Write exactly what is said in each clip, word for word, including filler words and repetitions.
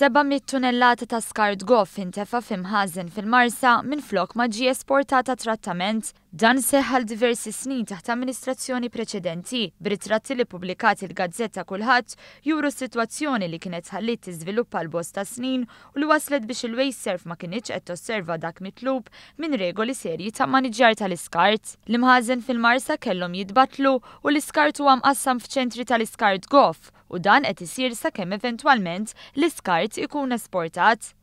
Seba' mitt tunnellata ta' skart goff intefa' f'imħażen fil-Marsa minflok ma ġie esportat għat-trattament. Dan seħħ għal diversi snin taħt amministrazzjoni preċedenti, b'ritratti li ppubblikat il-gazzetta Kulħadd juru s-sitwazzjoni li kienet tħalliet tiżviluppa għal bosta snin u li waslet biex il-WasteServ ma kinitx qed tosserva dak mitlub minn regoli serji ta' maniġjar tal-iskart. L-imħażen fil-Marsa kellhom jitbattlu u l-iskart huwa mqassam f'ċentri tal-iskart goff u dan qed isir sakemm eventwalment l-iskart ikun esportat.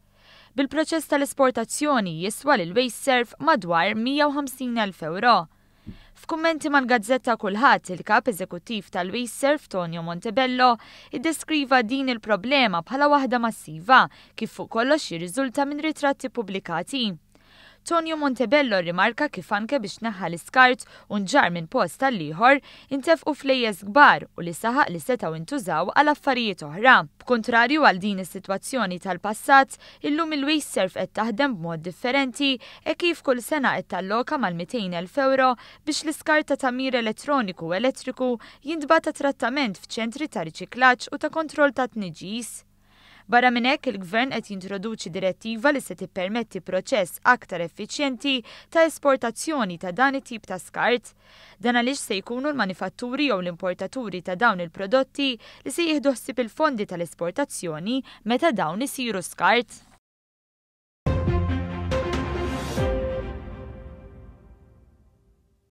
Bil-proċess tal-esportazzjoni jiswa lil WasteServ madwar mija u ħamsin elf euro. F'kummenti mal-gazzetta Kulħadd, il-kap eżekuttiv tal-WasteServ Tonio Montebello iddeskriva din il-problema bħala waħda massiva kif fuq kollox jirriżulta minn ritratti pubblikati. Tonio Montebello rimarka kif anke biex neħħa l-iskart u nġar minn post tal-ieħor intefqu flejjes kbar u li saħaq li setgħu intużaw għal affarijiet oħra. B'kontrarju għal din is-sitwazzjoni tal-passat, illum il-WasteServ qed taħdem b'mod differenti e kif kull sena qed talloka mal-mitejn elf euro biex l-iskart ta' tagħmir elettroniku u elettriku jintbagħat trattament f'ċentri ta' riċiklaġġ u ta' kontroll ta' tniġġis. Barra minn hekk, il-Gvern qed jintroduċi direttiva li se tippermetti proċess aktar effiċjenti ta' esportazzjoni ta' dan it-tip ta' skart. Dan għaliex se jkunu l-manifatturi jew l-importaturi ta' dawn il-prodotti li se jieħdu ħsieb il-fondi tal-esportazzjoni meta dawn isiru skart.